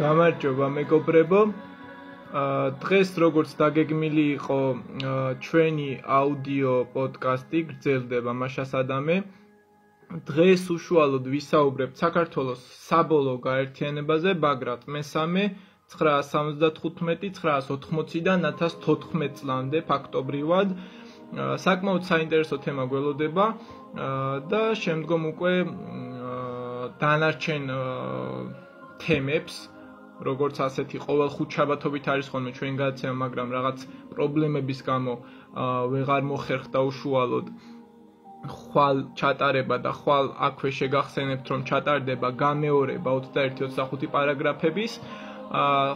გამარჯობა მეგობრებო. დღეს როგორც დაგეგმილი იყო ჩვენი აუდიო პოდკასტი გრძელდება მაშას ადამე. დღეს უშუალოდ ვისაუბრებთ საქართველოს საბოლოო გაერთიანებაზე ბაგრატ მესამე 975-980-დან 1014 წლამდე ფაქტობრივად. საკმაოდ საინტერესო თემა გველოდება და შემდგომ უკვე დანარჩენ თემებს, როგორც ასეთი ყოველ ხუთშაბათობით არის ხოლმე ჩვენ გადაცემა, მაგრამ რაღაც პრობლემების გამო ვეღარ მოხერხდა უშუალოდ ხვალ ჩატარება და ხვალ აქვე შეგახსენებთ, რომ ჩატარდება გამეორება 21-25 პარაგრაფების,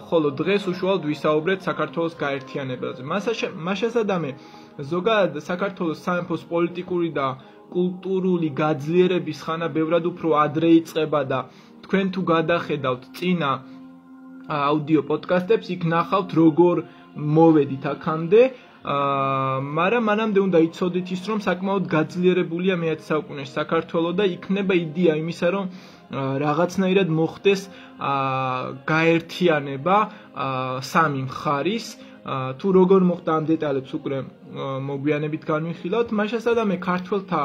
ხოლო დღეს უშუალოდ ვისაუბრეთ საქართველოს გაერთიანებაზე. მაშას ადამე ზოგადად საქართველოს სამეფოს პოლიტიკური და კულტურული გაძლიერების ხანა ბევრად უფრო ადრე იწყება და თქვენ თუ გადახედავთ წინა აუდიო პოდკასტებს, იქ ნახავთ როგორ მოვედით აქამდე, მაგრამ მანამდე უნდა იცოდეთ ის, რომ საკმაოდ გაძლიერებულია მე-10 საუკუნეში საქართველო და იქნება იდეა იმისა, რომ რაღაცნაირად მოხდეს გაერთიანება სამი მხარის. თუ როგორ მოხდა ამ დეტალებს უკვე მოგვიანებით განვიხილავთ. მაშას ადამე ქართველთა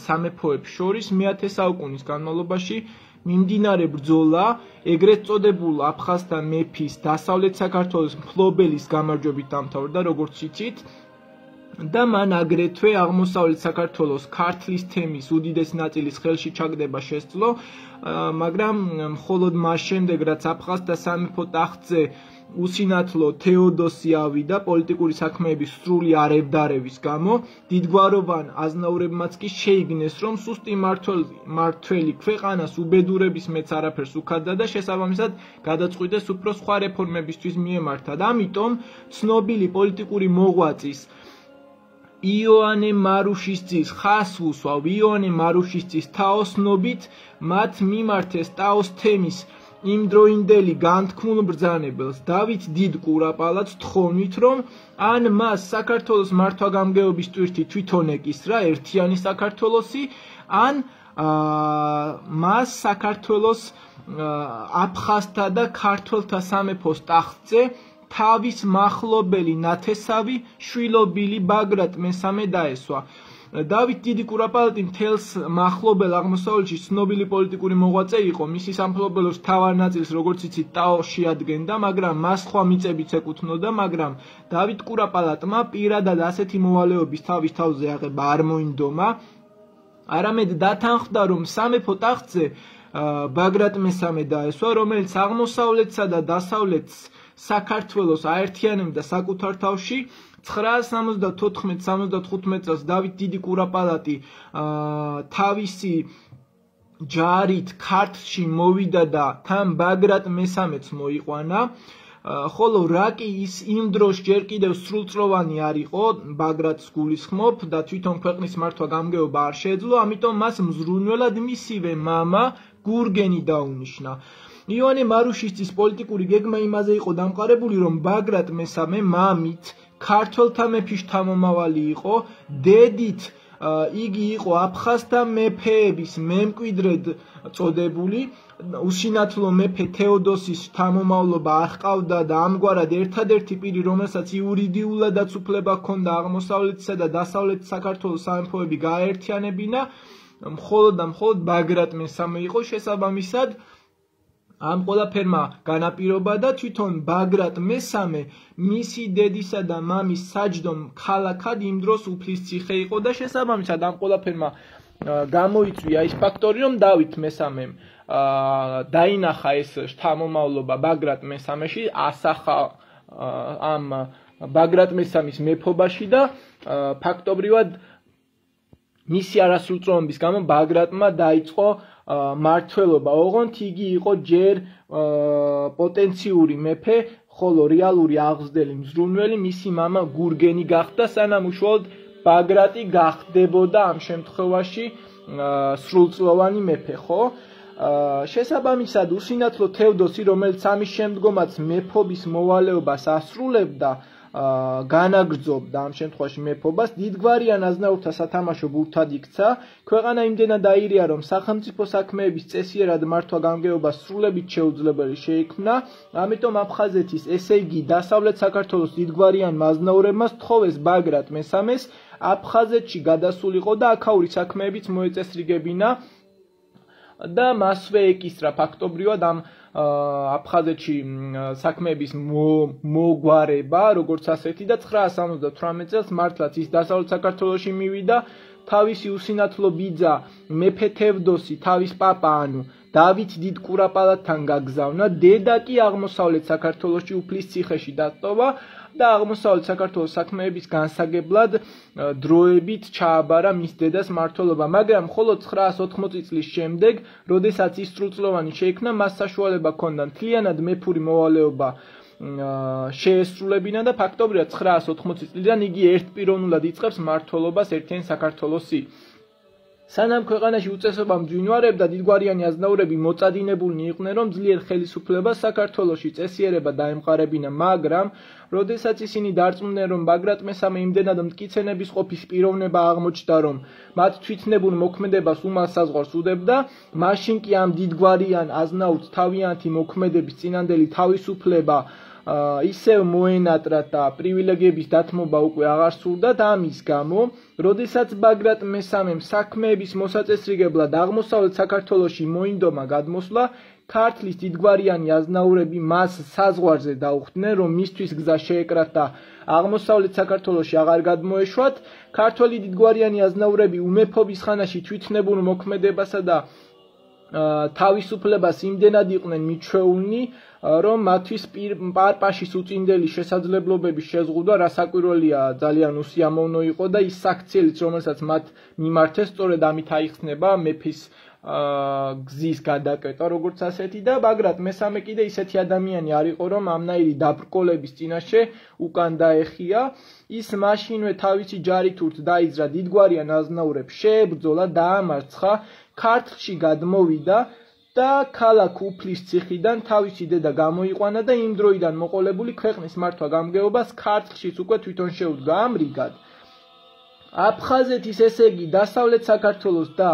სამეფოებს შორის მე-10 საუკუნის განმავლობაში მიმდინარე ბრძოლა, ეგრეთ წოდებულ აფხაზთა მეფის დასავლეთ საქართველოს მფლობელის გამარჯვებით დამთავრდა, როგორც იცით. და მან აგრეთვე აღმოსავლეთ საქართველოს ქართლის თემის უდიდესი ნაწილის ხელში ჩაგდება შესძლო, მაგრამ მხოლოდ მას შემდეგ, რაც აფხაზთა სამეფო ტახტზე უსინათლო თეოდოსი ავიდა პოლიტიკური საქმეების სრული არევდარევის გამო, დიდგვაროვან აზნაურებმაც კი შეიგნეს, რომ სუსტი მმართველი ქვეყანას უბედურების მეც არაფერს უქადდა და შესაბამისად გადაწყვიტეს უფრო სხვა რეფორმებისთვის მიემართა. ამიტომ ცნობილი პოლიტიკური მოღვაწის იონე მარუშიშძის ხას უსვავ იონე მარუშიშძის თაოსნობით მათ მიმართეს ტაოს თემის იმდროინდელი განთქმულ ბრძანებელს დავით დიდ კურაპალაც თხოვნით, რომ ან მას საქართველოს მართვა-გამგეობის ტვირთი თვითონ ეკისრა ერთიანი საქართველოსი, ან მას საქართველოს აფხაზთა და ქართველთა სამეფოს ტახტზე თავის მახლობელი ნათესავი შვილობილი ბაგრატ მესამე დაესვა. დავით დიდი კურაპალატი მთელს მახლობელ აღმოსავლეთში ცნობილი პოლიტიკური მოღვაწე იყო, მისი სამფლობელოს მთავარ ნაწილს, როგორც იცით, ტაო შეადგენდა, მაგრამ მას სხვა მიწებიც ეკუთვნოდა, მაგრამ დავით კურაპალატმა პირადად ასეთი მოვალეობის თავის თავზე აღება არ მოინდომა, არამედ დათანხმდა, რომ სამეფო ტახტზე ბაგრატ მესამე დაესვა, რომელიც აღმოსავლეთსა და დასავლეთს საქართველოს აერთიანებდა საკუთარ თავში. 974-75 წელს დავით დიდი კურაპალატი თავისი ჯარით ქართლში მოვიდა და თან ბაგრატ მესამეც მოიყვანა, ხოლო რა კი ის იმ დროს ჯერ კიდევ სრულწლოვანი არ იყო, ბაგრატს გულისხმობ და თვითონ ქვეყნის მართვა-გამგეობა არ შეეძლო, ამიტომ მას მზრუნველად მისივე მამა გურგენი დაუნიშნა. იონე მარუშიშძის პოლიტიკური გეგმა იმაზე იყო დამყარებული, რომ ბაგრატ მესამე მამით ქართველთა მეფის შთამომავალი იყო, დედით იგი იყო აფხაზთა მეფეების მემკვიდრედ წოდებული, უსინათლო მეფე თეოდოსის შთამომავლობა არ ჰყავდა და ამგვარად ერთადერთი პირი, რომელსაც იურიდიულადაც უფლება ჰქონდა აღმოსავლეთისა და დასავლეთ საქართველოს სამეფოები გააერთიანებინა, მხოლოდ და მხოლოდ ბაგრატ მესამე იყო. შესაბამისად ამ ყველაფერმა განაპირობა და თვითონ ბაგრატ მესამე მისი დედისა და მამის საჯდომ ქალაქად იმ დროს უფლისციხე იყო და შესაბამისად ამ ყველაფერმა გამოიწვია ის ფაქტორი, რომ დავით მესამემ დაინახა ეს შთამომავლობა ბაგრატ მესამეში, ასახა ამ ბაგრატ მესამის მეფობაში და ფაქტობრივად მისი არასრულწლოვანობის გამო ბაგრატმა დაიწყო მმართველობა, ოღონდ იგი იყო ჯერ პოტენციური მეფე, ხოლო რეალური აღზრდელი მზრუნველი მისი მამა გურგენი გახდა, სანამ უშუალოდ ბაგრატი გახდებოდა ამ შემთხვევაში სრულწლოვანი მეფე, ხო? შესაბამისად უსინათლო თეოდოსი, რომელიც ამის შემდგომაც მეფობის მოვალეობას ასრულებდა, განაგრძობდა ამ შემთხვევაში მეფობას, დიდგვარიან აზნაურთა სათამაშო ბურთად იქცა, ქვეყანა იმდენად აირია, რომ სახელმწიფო საქმეების წესიერად მართვა გამგეობას სრულებით შეუძლებელი შეიქმნა, ამიტომ აფხაზეთის, ესე იგი დასავლეთ საქართველოს დიდგვარიანმა აზნაურებმა სთხოვეს ბაგრატ მესამეს აფხაზეთში გადასულიყო და აქაური საქმეებიც მოეწესრიგებინა და მასვე ეკისრა ფაქტობრივად ამ აფხაზეთში საქმეების მოგვარება, როგორც ასეთი და 978 წელს მართლაც ის დასავლეთ საქართველოში მივიდა, თავისი უსინათლო ბიძა მეფე თევდოსი თავის პაპა ანუ დავით დიდ კურაპალატთან გაგზავნა, დედა კი აღმოსავლეთ საქართველოში უფლის ციხეში დატოვა და აღმოსავლეთ საქართველოს საქმეების განსაგებლად დროებით ჩააბარა მის დედას მმართველობა, მაგრამ მხოლოდ 980 წლის შემდეგ, როდესაც ის სრულწლოვანი შეიქმნა, მას საშუალება ჰქონდა მთლიანად მეფური მოვალეობა შეესრულებინა და ფაქტობრივად 980 წლიდან იგი ერთპიროვნულად იწყებს მმართველობას ერთიან საქართველოსი. სანამ ქვეყანაში უწესობა მძვინვარებდა, დიდგვარიანი აზნაურები მოწადინებულნი იყვნენ, რომ ძლიერ ხელისუფლებას საქართველოში წესიერება დაემყარებინა, მაგრამ როდესაც ისინი დარწმუნდნენ, რომ ბაგრატ მესამე იმდენად მტკიცენების ყოფის პიროვნება აღმოჩნდა, რომ მათ თვითნებურ მოქმედებას უმალ საზღვარს უდებდა, მაშინ კი ამ დიდგვარიან აზნაურს თავიანთი მოქმედების წინანდელი თავისუფლება ისევ მოენატრა და პრივილეგიების დათმობა უკვე აღარ სურდა და ამის გამო, როდესაც ბაგრატ მესამემ საქმეების მოსაწესრიგებლად აღმოსავლეთ საქართველოში მოინდომა გადმოსვლა, ქართლის დიდგვარიანი აზნაურები მას საზღვარზე დაუხდნენ, რომ მისთვის გზა შეეკრათ და აღმოსავლეთ საქართველოში აღარ გადმოეშვათ. ქართველი დიდგვარიანი აზნაურები უმეფობის ხანაში თვითნებურ მოქმედებასა და თავისუფლებას იმდენად იყვნენ მიჩვეულნი, რომ მათთვის პარპაშის უწინდელი შესაძლებლობების შეზღუდვა რასაკვირველია ძალიან უსიამოვნო იყო და ის საქციელიც, რომელსაც მათ მიმართეს, სწორედ ამით აიხსნება მეფის გზის გადაკეტვა, როგორც ასეთი და ბაგრატ მესამე კიდე ისეთი ადამიანი არ იყო, რომ ამნაირი დაბრკოლების წინაშე უკან დაეხია. ის მაშინვე თავისი ჯარით ურთ დაიძრა დიდგვარიან აზნაურებს, შეებრძოლა, დაამარცხა, ქართლში გადმოვიდა და ქალაქ უფლის ციხიდან თავისი დედა გამოიყვანა და იმ დროიდან მოყოლებული ქვეყნის მართვა გამგეობას ქართლშიც უკვე თვითონ შეუდგა. ამრიგად აფხაზეთის, ესე იგი დასავლეთ საქართველოს და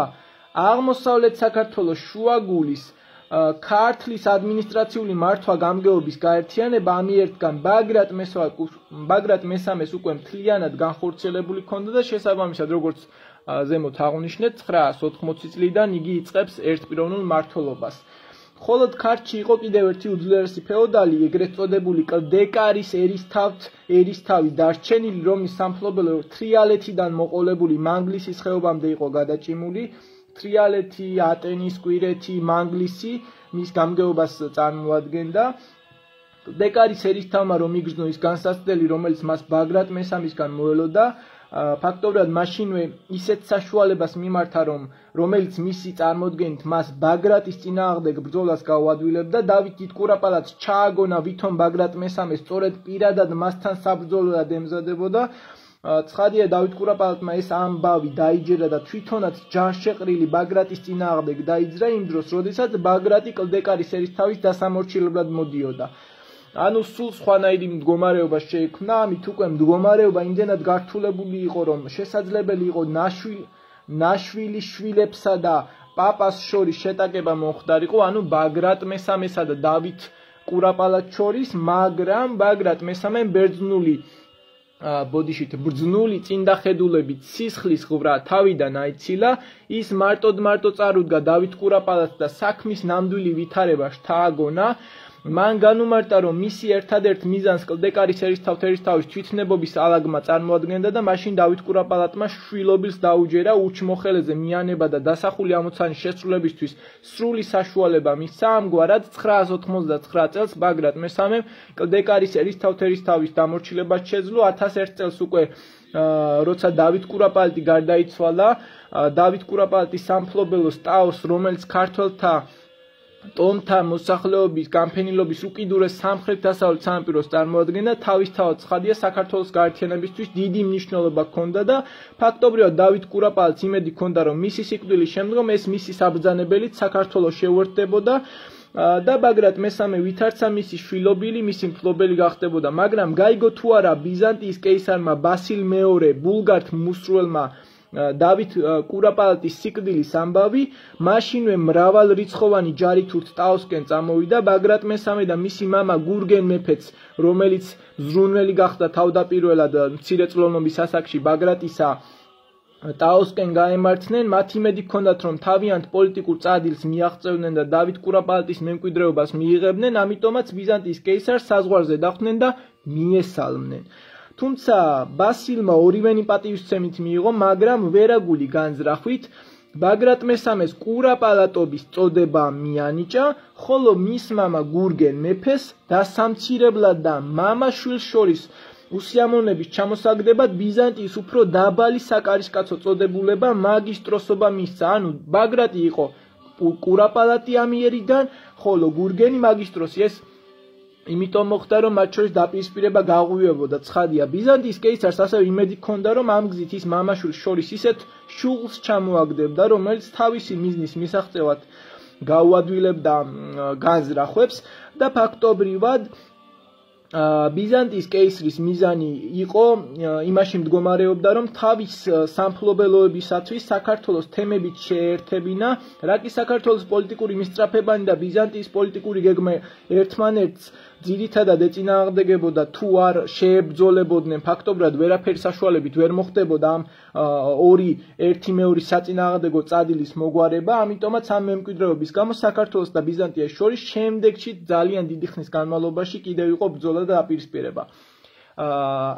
აღმოსავლეთ საქართველოს შუაგულის ქართლის ადმინისტრაციული მართვა გამგეობის გაერთიანება ამიერდგან ბაგრატ მესამეს უკვე მთლიანად განხორციელებული ჰქონდა და შესაბამისად, როგორც ზემოთ აღვნიშნეთ, 980 წლიდან იგი იწყებს ერთპიროვნულ მმართველობას. მხოლოდ ქართლში იყო კიდევ ერთი უძლიერესი ფეოდალი, ეგრეთ წოდებული კლდეკარის ერისთავი დარჩენილი, რომლის სამფლობელო თრიალეთიდან მოყოლებული მანგლისის ხეობამდე იყო გადაჭიმული. თრიალეთი, ატენის, კვირეთი, მანგლისი მის გამგეობას წარმოადგენდა. კლდეკარის ერისთავმა რომ იგრძნო ის განსაცდელი, რომელიც მას ბაგრატ მესამისგან მოელოდა, ფაქტობრივად მაშინვე ისეთ საშუალებას მიმართა, რომელიც მისი წარმოდგენით მას ბაგრატის წინააღმდეგ ბრძოლას გაუადვილებდა. დავით დიდ კურაპალატს ჩააგონა, ვითომ ბაგრატ მესამე სწორედ პირადად მასთან საბრძოლოდ ემზადებოდა. ცხადია, დავით კურაპალატმა ეს ამბავი დაიჯერა და თვითონაც ჯანშეყრილი ბაგრატის წინააღმდეგ დაიძრა იმ დროს, როდესაც ბაგრატი კლდეკარის ერისთავის დასამორჩილებლად მოდიოდა. ანუ სულ სხვანაირი მდგომარეობა შეიქმნა, ამით უკვე მდგომარეობა იმდენად გართულებული იყო, რომ შესაძლებელი იყო ნაშვილი შვილებსა და პაპას შორის შეტაკება მომხდარიყო, ანუ ბაგრატ მესამესა და დავით კურაპალატს შორის, მაგრამ ბაგრატ მესამემ ბრძნული წინდახედულებით სისხლის ღვრა თავიდან აიცილა, ის მარტოდ წარუდგა დავით კურაპალატს და საქმის ნამდვილი ვითარება შთააგონა. მან განუმარტა, რომ მისი ერთადერთ მიზანს კლდეკარის ერისთავის თვითნებობის ალაგმა წარმოადგენდა და მაშინ დავით კურაპალატმა შვილობილს დაუჯერა ურჩმოხელეზე მიანება და დასახული ამოცანის შესრულებისთვის სრული საშუალება მისცა. ამგვარად 999 წელს ბაგრატ მესამემ კლდეკარის ერისთავის დამორჩილებას შეძლო. 1001 წელს უკვე როცა დავით კურაპალატი გარდაიცვალა, დავით კურაპალატის სამფლობელოს ტაოს, რომელიც ქართველთა ტომთა მოსახლეობის განფენილობის უკიდურეს სამხრეთ-დასავლეთ სანაპიროს წარმოადგენდა, თავისთავად ცხადია საქართველოს გაერთიანებისთვის დიდი მნიშვნელობა ჰქონდა და ფაქტობრივად დავით კურაპალატს იმედი ჰქონდა, რომ მისი სიკვდილის შემდგომ ეს მისი საბრძანებელით საქართველოს შეუერთდებოდა. და ბაგრატ მესამე ვითარცა მისი შვილობილი, მისი მფლობელი გახდებოდა, მაგრამ გაიგო თუ არა ბიზანტიის კეისარმა ბასილ მეორე ბულგართ მუსრველმა დავით კურაპალატის სიკვდილის ამბავი, მაშინვე მრავალრიცხოვანი ჯარი თურთ ტაოსკენ წამოვიდა. ბაგრატ მესამე და მისი მამა გურგენ მეფეც, რომელიც ზრუნველი გახდა თავდაპირველად მცირეწლოვნობის ასაკში ბაგრატისა, ტაოსკენ გაემართნენ. მათ იმედი ჰქონდათ, რომ თავიანთ პოლიტიკურ წადილს მიაღწევდნენ და დავით კურაპალატის მემკვიდრეობას მიიღებდნენ, ამიტომაც ბიზანტიის კეისარს საზღვარზე დახვდნენ და მიესალმნენ. თუმცა ბასილმა ორივენი პატივისცემით მიიღო, მაგრამ ვერაგული განზრახვით ბაგრატ მესამეს კურაპალატობის წოდება მიანიჭა, ხოლო მის მამა გურგენ მეფეს დასამცირებლად და მამა-შვილს შორის უსიამოვნების ჩამოსაგდებად ბიზანტიის უფრო დაბალი საკარისკაცო წოდებულება მაგისტროსობა მისცა. ანუ ბაგრატი იყო კურაპალატი ამიერიდან, ხოლო გურგენი მაგისტროსი. ეს იმიტომ მოხდა, რომ მათ შორის დაპირისპირება გაღვივებოდა. ცხადია, ბიზანტიის კეისარს ასევე იმედი ჰქონდა, რომ ამ გზით ის მამა-შვილს შორის ისეთ შუღლს ჩამოაგდებდა, რომელიც თავისი მიზნის მისაღწევად გაუადვილებდა განზრახვებს და ფაქტობრივად ბიზანტიის კეისრის მიზანი იყო იმაში მდგომარეობდა, რომ თავის სამფლობელოებისათვის საქართველოს თემებით შეერთებინა, რა კი საქართველოს პოლიტიკური მისწრაფებანი და ბიზანტიის პოლიტიკური გეგმა ერთმანეთს ძირითადად ეწინააღმდეგებოდა, თუ არ შეებრძოლებოდნენ, ფაქტობრივად ვერაფერი საშუალებით ვერ მოხდებოდა ამ ორი ერთი მეორის საწინააღმდეგო წადილის მოგვარება, ამიტომაც ამ მემკვიდრეობის გამო საქართველოს და ბიზანტიას შორის შემდეგში ძალიან დიდი ხნის განმავლობაში კიდევ იყო ბრძოლა და დაპირისპირება.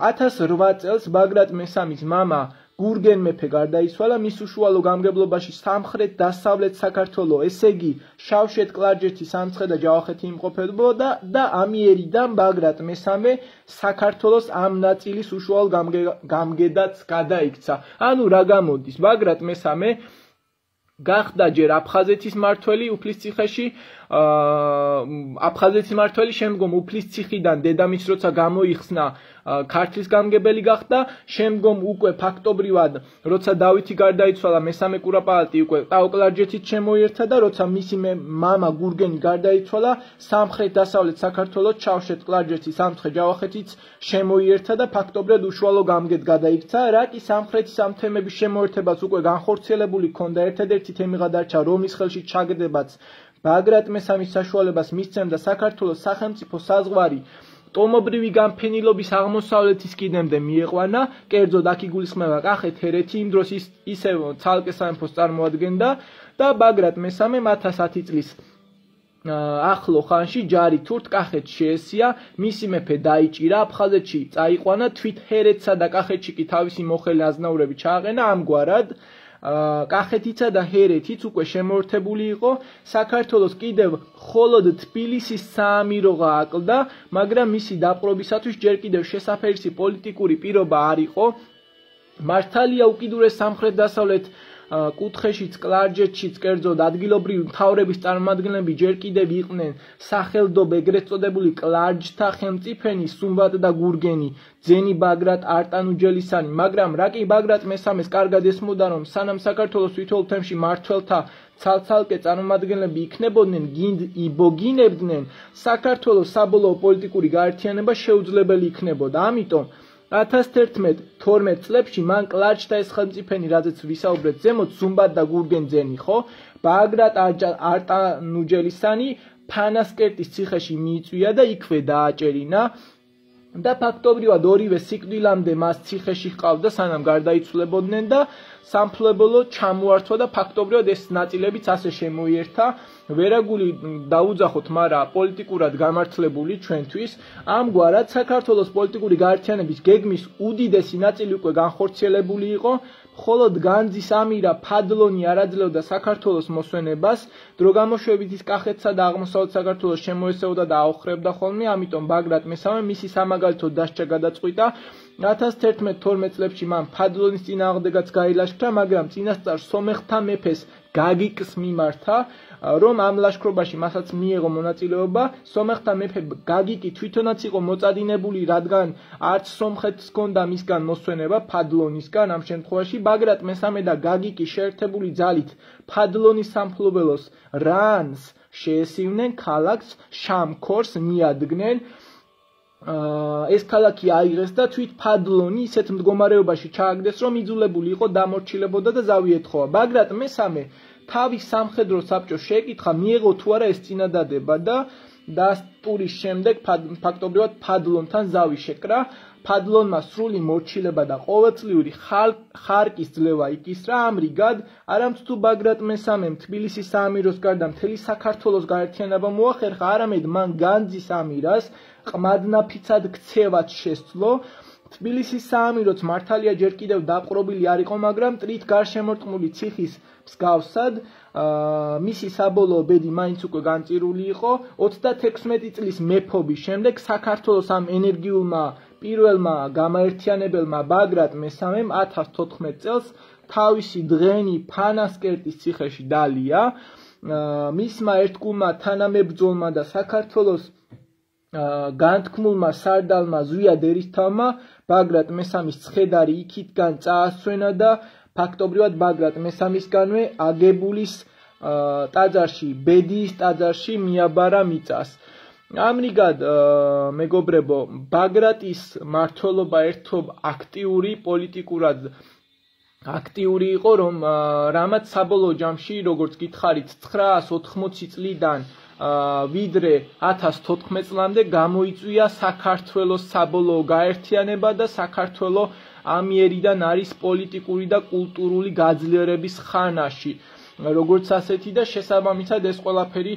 1008 წელს ბაგრატ მესამის მამა გურგენ მეფე გარდაიცვალა, მის უშუალო გამგებლობაში სამხრეთ-დასავლეთ საქართველო, ესე იგი შავშეთ, კლარჯეთი, სამცხე და ჯავახეთი იმყოფებოდა და ამიერიდან ბაგრატ მესამე საქართველოს ამ ნაწილის უშუალო გამგედაც გადაიქცა. ანუ რა გამოდის, ბაგრატ მესამე გახდა ჯერ აფხაზეთის მმართველი უფლისციხეში, აფხაზეთის მმართველი, შემდგომ უფლისციხიდან დედამისს როცა გამოიხსნა ქართლის გამგებელი გახდა, შემდგომ უკვე ფაქტობრივად როცა დავითი გარდაიცვალა, მესამე კურაპალატი უკვე ტაო-კლარჯეთით შემოიერთა და როცა მისი მამა გურგენი გარდაიცვალა, სამხრეთ-დასავლეთ საქართველოს შავშეთ, კლარჯეთი, სამცხე, ჯავახეთიც შემოიერთა და ფაქტობრივად უშუალო გამგედ გადაიქცა. რა კი სამხრეთის ამ თემების შემოერთებას უკვე განხორციელებული ჰქონდა, ერთადერთი თემი გადარჩა, რომლის ხელში ჩაგდებაც ბაგრატ მესამის საშუალებას მისცემდა საქართველოს სახელმწიფო საზღვარი ტომობრივი განფენილობის აღმოსავლეთის კიდემდე მieყვანა, კერძოდ აქ იგულისხმება კახეთ, ჰერეთი, იმ დროს ისევ ცალკე სამეფოს წარმოადგენდა და ბაგრატ მესამე 1010 წლის ახლო ხანში ჯარი თურთ კახეთს შეესია, მისი მეფე დაიჭირა, აფხაზეთში წაიყვანა, თვით ჰერეთსა და კახეთში კი თავისი მოხელე აზნაურები ჩააყენა, ამგვარად კახეთიცა და ჰერეთიც უკვე შემოერთებული იყო, საქართველოს კიდევ მხოლოდ თბილისის საამიროღა აკლდა, მაგრამ მისი დაპყრობისათვის ჯერ კიდევ შესაფერისი პოლიტიკური პირობა არ იყო. მართალია უკიდურეს სამხრეთ-დასავლეთ კუთხეშიც, კლარჯეთშიც, კერძოდ ადგილობრივი მთავრების წარმომადგენლები ჯერ კიდევ იყვნენ სახელდობ ეგრეთ წოდებული კლარჯთა ხელმწიფენი სუმბატ და გურგენი, ძენი ბაგრატ არტანუჯელისანი, მაგრამ რა კი ბაგრატ მესამეს კარგად ესმოდა, რომ სანამ საქართველოს თითოეულ თემში მმართველთა ცალ-ცალკე წარმომადგენლები იქნებოდნენ, გინდ იბოგინებდნენ, საქართველოს საბოლოო პოლიტიკური გაერთიანება შეუძლებელი იქნებოდა. ამიტომ 1011-12 წლებში მან კლარჯთა ეს ხელმწიფენი, რაზეც ვისაუბრეთ ზემოთ, სუმბატ და გურგენ ძენი ხო, ბაგრატ არტანუჯელისანი ფანასკერტის ციხეში მიიწვია და იქვე დააჭერინა და ფაქტობრივად ორივე სიკვდილამდე მას ციხეში ჰყავდა, სანამ გარდაიცვლებოდნენ და სამფლობელო ჩამოართვა და ფაქტობრივად ეს ნაწილებიც ასე შემოიერთა. ვერაგული დაუძახოთ, მაგრამ პოლიტიკურად გამართლებული ჩვენთვის. ამგვარად საქართველოს პოლიტიკური გაერთიანების გეგმის უდიდესი ნაწილი უკვე განხორციელებული იყო, მხოლოდ განძის ამირა ფადლონი არ აძლევდა საქართველოს მოსვენებას, დრო გამოშვებით ის კახეთსა და აღმოსავლეთ საქართველოს შემოესეოდა და აოხრებდა ხოლმე, ამიტომ ბაგრატ მესამე მისი სამაგალითო დასჯა გადაწყვიტა. 1011-12 წლებში მან ფადლონის წინააღმდეგაც გაილაშქრა, მაგრამ წინასწარ სომეხთა მეფეს გაგიკს მიმართა, რომ ამ ლაშქრობაში მასაც მიიღო მონაწილეობა. სომეხთა მეფე გაგიკი თვითონაც იყო მოწადინებული, რადგან არც სომხეთს ჰქონდა მისგან მოსვენება ფადლონისგან ამ შემთხვევაში. ბაგრატ მესამე და გაგიკი შეერთებული ძალით ფადლონის სამფლობელოს რანს შეესივნენ, ქალაქს შამქორს მიადგნენ. ეს ქალაქი აიღეს და თვით ფადლონი ისეთ მდგომარეობაში ჩააგდეს, რომ იძულებული იყო დამორჩილებოდა და ზავი ეთხოვა. ბაგრატ მესამე თავის სამხედრო საბჭოს შეეკითხა, მიეღო თუ არა ეს წინადადება და დასტურის შემდეგ ფაქტობრივად ფადლონთან ზავი შეკრა. ფადლონმა სრული მორჩილება და ყოველწლიური ხარკის ძლევა იკისრა. ამრიგად, არამც თუ ბაგრატ მესამემ თბილისის საამიროს გარდა მთელი საქართველოს გაერთიანება მოახერხა, არამედ მან განძის ამირას ყმადნაფიცად ქცევაც შესძლო. თბილისის საამიროც მართალია ჯერ კიდევ დაპყრობილი არ იყო, მაგრამ მტრით გარშემორტყმული ციხის მსგავსად მისი საბოლოო ბედი მაინც უკვე განწირული იყო. 36 წლის მეფობის შემდეგ საქართველოს ამ ენერგიულმა პირველმა გამაერთიანებელმა ბაგრატ მესამემ 1014 წელს თავისი დღენი ფანასკერტის ციხეში დალია. მისმა ერთგულმა თანამებრძოლმა და საქართველოს განთქმულმა სარდალმა ზვიად ერისთავმა ბაგრატ მესამის ცხედარი იქითგან წაასვენა და ფაქტობრივად ბაგრატ მესამისგანვე აგებულის ტაძარში, ბედიის ტაძარში მიაბარა მიწას. ამრიგად, მეგობრებო, ბაგრატის მმართველობა ერთობ აქტიური, პოლიტიკურად აქტიური იყო, რომ რამაც საბოლოო ჯამში, როგორც გითხარით, 980 წლიდან ვიდრე 1014 წლამდე გამოიწვია საქართველოს საბოლოო გაერთიანება და საქართველო ამიერიდან არის პოლიტიკური და კულტურული გაძლიერების ხანაში. როგორც ასეთი და შესაბამისად ეს ყველაფერი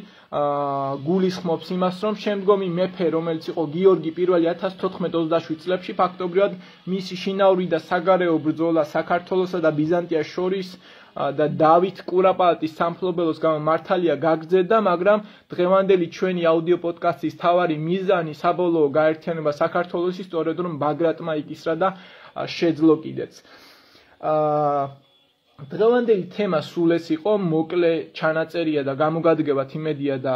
გულისხმობს იმას, რომ შემდგომი მეფე, რომელიც იყო გიორგი I 1427 წლებში, ფაქტობრივად მისი შინაური და საგარეო ბრძოლა საქართველოსა და ბიზანტიას შორის და დავით კურაპალატის სამფლობელოს გამო მართალია გაგრძელდა, მაგრამ დღევანდელი ჩვენი აუდიო პოდკასტის თავარი მიზანი საბოლოო გაერთიანება საქართველოსი სწორედ რომ ბაგრატმა იკისრა და შეძლო კიდეც. დღევანდელი თემა სულ ეს იყო, მოკლე ჩანაწერია და გამოგადგებათ იმედია და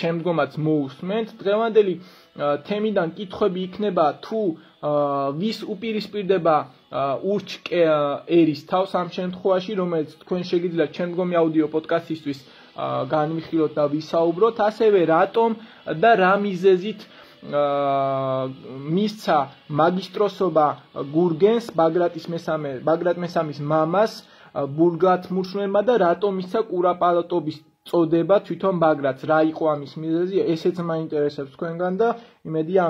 შემდგომაც მოусმენთ. დღევანდელი თემიდან კითხვები იქნება თუ ვის უპირისპირდება ურჩ ერისთავს ამ შემთხვევაში, რომელიც თქვენ შეგიძლიათ შემდგომი აუდიო პოდკასტისთვის განვიხილოთ და ვისაუბროთ, ასევე რატომ და რა მიზეზით მისცა მაგისტროსობა გურგენს ბაგრატ მესამის მამას ბურგათმურშნელმა და რატომ მისცა კურაპალატობის წოდება თვითონ ბაგრატს, რა იყო ამის მიზეზი, ესეც მაინტერესებს თქვენგან და იმედია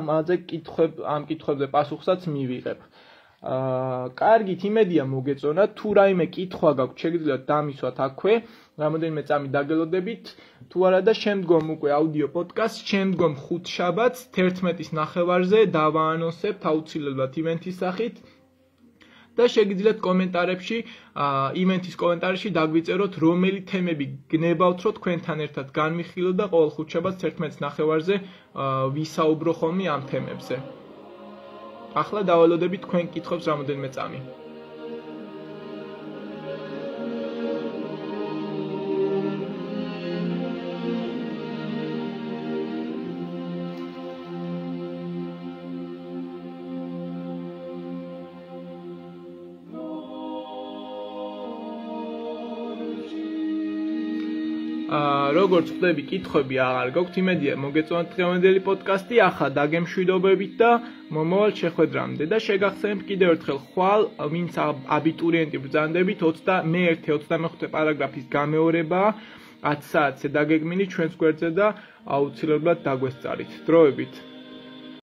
ამ კითხვებზე პასუხსაც მივიღებ. კარგით, იმედია მოგეწონათ, თუ რაიმე კითხვა გაქვთ, შეგიძლიათ დამისვათ აქვე, რამოდენიმე წამი დაგელოდებით, თუ არა და შემდგომ უკვე აუდიო პოდკასტ, შემდგომ ხუთშაბათს 11-ის ნახევარზე დავაანონსებთ აუცილებლად ივენთის სახით. და შეგიძლიათ კომენტარებში, ივენთის კომენტარებში დაგვიწეროთ, რომელი თემები გნებავთ, რომ თქვენთან ერთად განვიხილოთ და ყოველ ხუთშაბათს 11-ის ნახევარზე ვისაუბრო ხოლმე ამ თემებზე. ახლა დავალოდებით თქვენ კითხვებს რამოდენიმე წამი. როგორც ხვდები, კითხვები აღარ გაქვთ, იმედია მოგეწონათ დღევანდელი პოდკასტი, ახლა დაგემშვიდობებით და მომავალ შეხვედრამდე და შეგახსენებთ კიდევ ერთხელ ხვალ, ვინც აბიტურიენტი ბრძანდებით, მე-1-25 პარაგრაფის გამეორებაა 10 საათზე დაგეგმილი ჩვენს გვერდზე და აუცილებლად დაგვესწარით. დროებით.